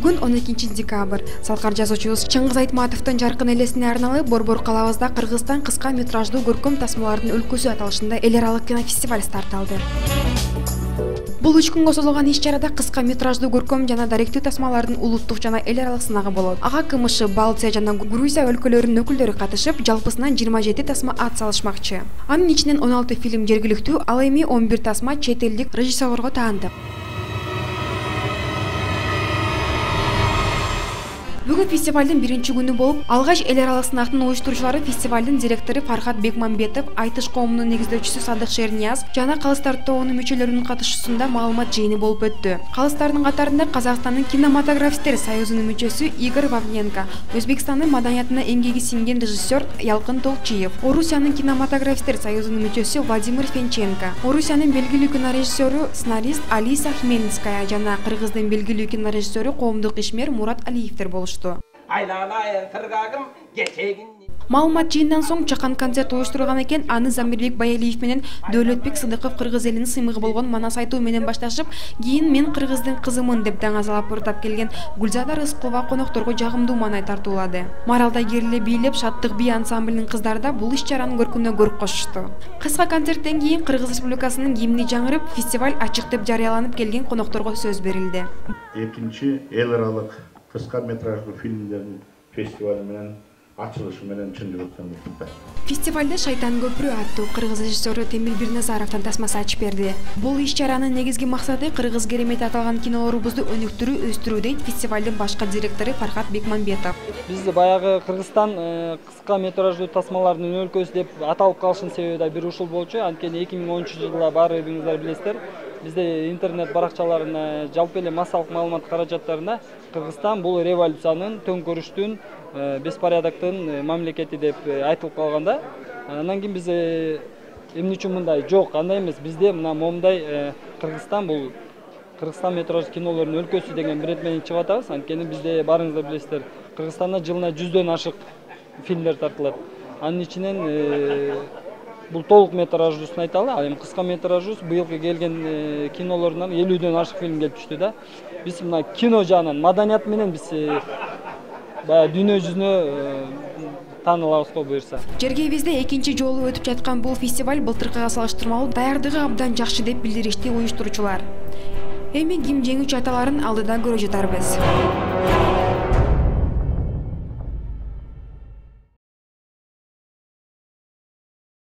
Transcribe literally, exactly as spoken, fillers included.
Бүгүн он экинчи декабрь. Салкар жазуучубуз Чыңгыз Айтматовдун жаркын элесине арналып Борбор калабызда Кыргызстан кыска метраждуу көркөм тасмалардын өлкөсү аталышында эл аралык кинофестиваль старт алды. Бул үч күнгө созулган иш-чарада кыска метраждуу көркөм жана даректүү тасмалардын улуттук жана эл аралык сынагы болот. Ага КМШ, Балтия жана Грузия өлкөлөрүнүн өкүлдөрү катышып, жалпысынан жыйырма жети тасма ат салышмакчы. Анын ичинен он алты фильм жергиликтүү, ал эми он бир тасма чет элдик режиссерлорго таандык. Бүгүн фестивалдын биринчи күнү болуп, алгач эл аралык сынактын уюштуруучулары фестивалдын директору Фархат Бекмамбетов, Айтыш коомунун негиздөөчүсү Садык Шернияз жана Калыстар тобунун мүчөлөрүнүн катышуусунда маалымат жыйыны болуп өттү. Калыстардын катарында Казакстандын кинематографисттер союзунун мүчөсү Игорь Вавненко, Өзбекстандын маданиятына эмгеги сиңген режиссер Ялкын Толчиев, Орусиянын кинематографисттер союзунун мүчөсү Владимир Фенченко, Орусиянын белгилүү кинорежиссеру, сценарист Алиса Хмельницкая жана Кыргыздын белгилүү кинорежиссеру, коомдук ишмер Мурат Алиевдер болушту. Маалымат жыйындан соң чакан концерт уюштурулган экен. Аны Замирбек Баялиев менен Дөөлөтбек Сыдыков кыргыз элинин сыймыгы болгон манас айтуу менен башташып, кийин мен кыргыздын кызымын деп даңазалап уртап келген Гүлзада Рыскулова конокторго жагымдуу маанай тартуулады. Маралда кериле бийлеп, Шаттык би ансамблинин кыздары да бул иш-чаранын көркүнө көрк кошушту. Кыска концерттен кийин Кыргыз Республикасынын гимни жаңырып, фестиваль ачык деп жарыяланып, келген конокторго сөз берилди. Экинчи эл аралык кыска метраждуу фильмдердин фестивали менен ачылышы менен чын жүрөктөн куттуктайм. Фестивалда Шайтан көпүрө аттуу кыргыз режиссеру Темир Бирназаровдун тасмасы ачып берди. Бул иш-чаранын негизги максаты кыргыз керемети аталган кинолорубузду өнүктүрүү, өстүрүү дейт фестивалдын башкы директору Фархат Бекмамбетов. Биз баягы Кыргызстан кыска метраждуу тасмалардын өлкөсү деп аталып калышынын себеби да бир ушул болчу. Анткени эки миң онунчу жылда баарыңыздар билесиздер, бизде интернет баракчаларына, жалпы эле массалык маалымат каражаттарына Кыргызстан бул революциянын, төңкөрүштүн, беспорядоктун мамлекети деп айтылып калганда, андан кийин биз эмне үчүн мындай жок, андай эмес, бизде мына момундай Кыргызстан бул Кыргызстан метраждуу кинолордун өлкөсү деген бренд менен чыгып атабыз. Анткени бизде баарыңыздар билесиздер, Кыргызстанда жылына жүздөн ашык фильмдер тартылат. Анын ичинен бул толук метраждуусын айталы, ал эми кыска метраждуу быйылкы келген кинолордон элүүдөн ашык фильм келип түштү да. Биз мына кино жагынан, маданият менен биз баягы дүйнө жүзүнө таанылабыз го буюрса. Жергебизде экинчи жолу өтүп жаткан бул фестиваль былтыркыга салыштырмалуу даярдыгы абдан жакшы деп билдиришти уюштуруучулар. Эми ким жеңүүчү аталарын алдыда көрө жатарбыз.